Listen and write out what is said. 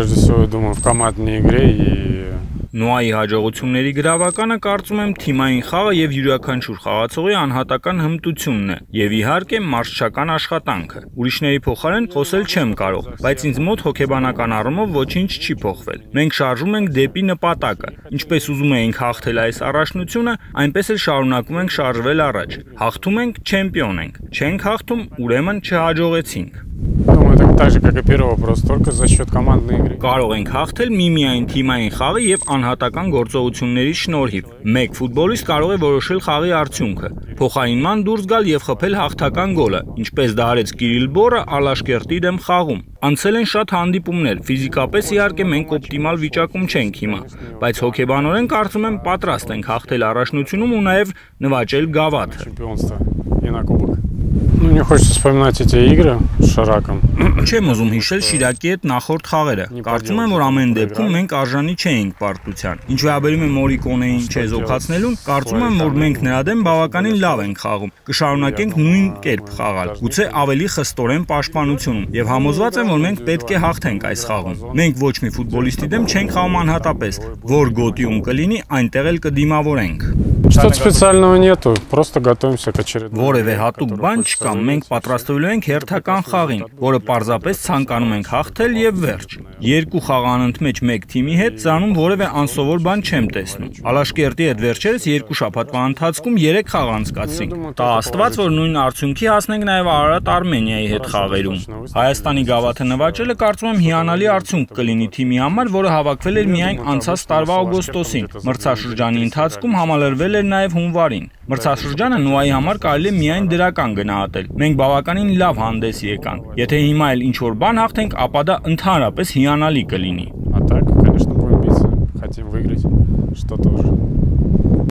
прежде всего, я думаю, в командной игре и... Նոայի հաջողությունների գրավականը կարծում եմ թիմային խաղը եւ յուրաքանչյուր խաղացողի անհատական հմտությունն է եւ իհարկե մարզչական աշխատանքը։ Ուրիշների փոխարեն խոսել չեմ կարող, բայց ինձ մոտ հոգեբանական առումով ոչինչ չի փոխվել։ Մենք շարժում ենք դեպի նպատակը։ Ինչպես ուզում էինք հաղթել այս առաջնությունը, այնպես էլ շարունակում ենք շարժվել առաջ։ Հաղթում ենք, չեմպիոն ենք։ Չենք հաղթում, ուրեմն չհաջողեցինք։ Думаю, это так же, как и первый вопрос, только за счет командной игры. Կարող ենք հաղթել միմիայն թիմային խաղի եւ անհատական գործողությունների շնորհիվ։ Մեկ ֆուտբոլիստ կարող է որոշել խաղի արդյունքը, փոխարինման դուրս գալ եւ խփել հաղթական գոլը, ինչպես դա արեց Կիրիլ Բորը Ալաշկերտի դեմ խաղում։ Անցել են շատ հանդիպումներ, ֆիզիկապես իհարկե մենք օպտիմալ վիճակում չենք հիմա, բայց հոգեբանորեն կարծում եմ պատրաստ ենք հաղթել առաջնությունում ու նաեւ նվաճել գավաթը։ И на кубок. Ну, не хочется вспоминать эти игры с Шираком. Չեմ ուզում հիշել Շիրակի հետ նախորդ խաղերը։ Կարծում եմ, որ ամեն դեպքում մենք արժանի չէինք պարտության։ Ինչ վերաբերում է Մորիկոնեին չեզոքացնելուն, կարծում եմ, որ մենք նրա դեմ բավականին լավ ենք խաղում։ Կշարունակենք նույն կերպ խաղալ, գուցե ավելի խստորեն պաշտպանությունում, եւ համոզված եմ, որ մենք պետք է հաղթենք այս խաղում։ Մենք ոչ մի ֆուտբոլիստի դեմ չենք խաղում անհատապես, որ գոտիում կլինի, այնտեղ էլ կդիմավորենք։ Что-то специального нету, просто готовимся к очередному. Որևէ հատուկ բան չկա, մենք պատրաստվելու ենք հերթական խաղին, որը պարզապես ցանկանում ենք հաղթել եւ վերջ։ Երկու խաղ անընդմեջ մեկ թիմի հետ ծանում որևէ անսովոր բան չեմ տեսնում։ Ալաշկերտի հետ վերջերս երկու շաբաթվա ընթացքում 3 խաղ անցկացրինք։ Տա Աստված, որ նույն արդյունքի հասնենք նաեւ Արարատ Արմենիայի հետ խաղերում։ Հայաստանի գավաթը նվաճելը կարծում եմ հիանալի արդյունք կլինի թիմի համար, որը հավաքվել էր միայն անցած տարվա օգոստոսին։ Մրցաշրջանի ընթացքում համալրվել էր նաև հունվարին։ Մրցաշրջանը Նոայի համար կարելի է միայն դրական գնահատել։ Մենք բավականին լավ հանդես եկանք։ Եթե հիմա էլ ինչ-որ բան հաղթենք, ապա դա ընդհանրապես հիանալի կլինի։ А так, конечно, будем биться. Хотим выиграть что-то уже.